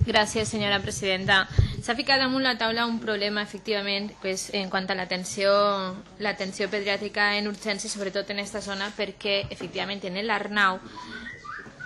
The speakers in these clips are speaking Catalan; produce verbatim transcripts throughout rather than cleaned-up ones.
Gràcies, senyora presidenta. S'ha ficat damunt la taula un problema, efectivament, pues, en quant a l'atenció l'atenció pediàtrica en urgència, sobretot en aquesta zona, perquè, efectivament, en l'Arnau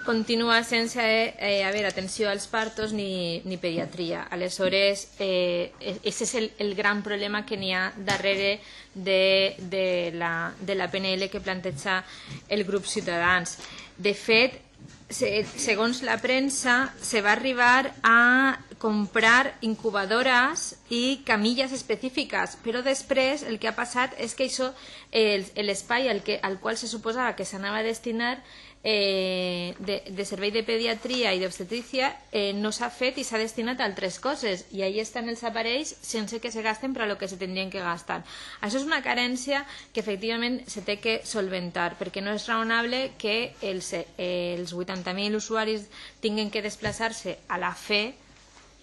continua sense eh, haver atenció als partos ni, ni pediatria. Aleshores, eh, aquest és el, el gran problema que n'hi ha darrere de, de, la, de la P N L que planteja el grup Ciutadans. De fet, segons la premsa, se va arribar a comprar incubadores i camilles específiques, però després el que ha passat és que això, l'espai al, al qual se suposava que s'anava a destinar eh, de, de servei de pediatria i d'obstetrícia eh, no s'ha fet i s'ha destinat a altres coses, i ahí estan els aparells sense que se gasten per a lo que se tindrien que gastar. Això és una carència que efectivament se té que solventar, perquè no és raonable que els, els vuitanta mil usuaris tinguin que desplaçar-se a la fe,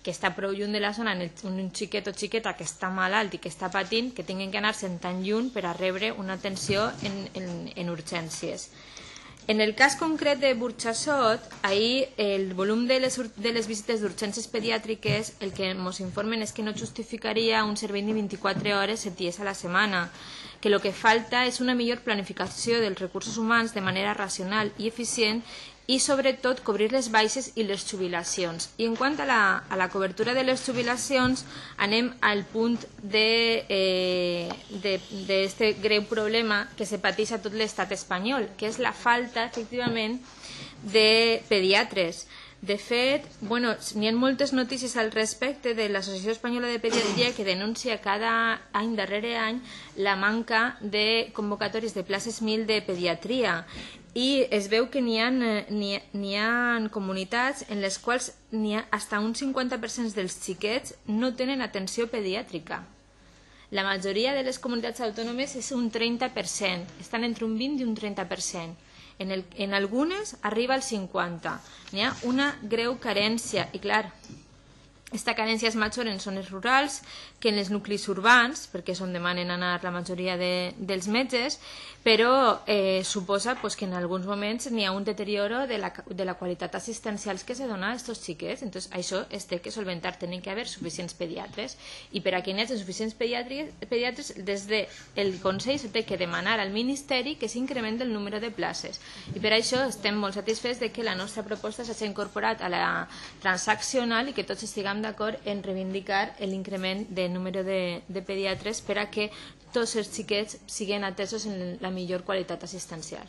que està prou lluny de la zona, en un xiquet o xiqueta que està malalt i que està patint, que tinguin que anar-se'n tan lluny per a rebre una atenció en, en, en urgències. En el cas concret de Burxassot, ahir el volum de les, de les visites d'urgències pediàtriques el que ens informen és que no justificaria un servei de vint-i-quatre hores set dies a la setmana, que el que falta és una millor planificació dels recursos humans de manera racional i eficient i sobretot cobrir les baixes i les jubilacions. I en quant a la, a la cobertura de les jubilacions, anem al punt d'aquest eh, de, de greu problema que se pateix a tot l'estat espanyol, que és la falta, efectivament, de pediatres. De fet, bueno, n'hi ha moltes notícies al respecte de l'Associació Espanyola de Pediatria que denuncia cada any darrere any la manca de convocatòries de places mil de pediatria. I es veu que n'hi ha, n'hi ha comunitats en les quals n'hi ha fins un cinquanta per cent dels xiquets no tenen atenció pediàtrica. La majoria de les comunitats autònomes és un trenta per cent, estan entre un vint i un trenta per cent. En, el, en algunes arriba al cinquanta per cent. N'hi ha una greu carència i, clar, aquesta carència és major en zones rurals que en els nuclis urbans, perquè és on demanen anar la majoria de, dels metges, però eh, suposa pues, que en alguns moments n'hi ha un deterioro de la, de la qualitat assistencial que se dona a aquests xiquets. Entonces, això es té que solventar, tenen que haver suficients pediatres, i per a que n'hi hagi suficients pediatres, des del Consell se té que demanar al Ministeri que s'incrementi el número de places. I per això estem molt satisfets de que la nostra proposta s'hagi incorporat a la transaccional i que tots estiguem d'acord en reivindicar l'increment de número de, de pediatres per a que tots els xiquets siguin atesos en la millor qualitat assistencial.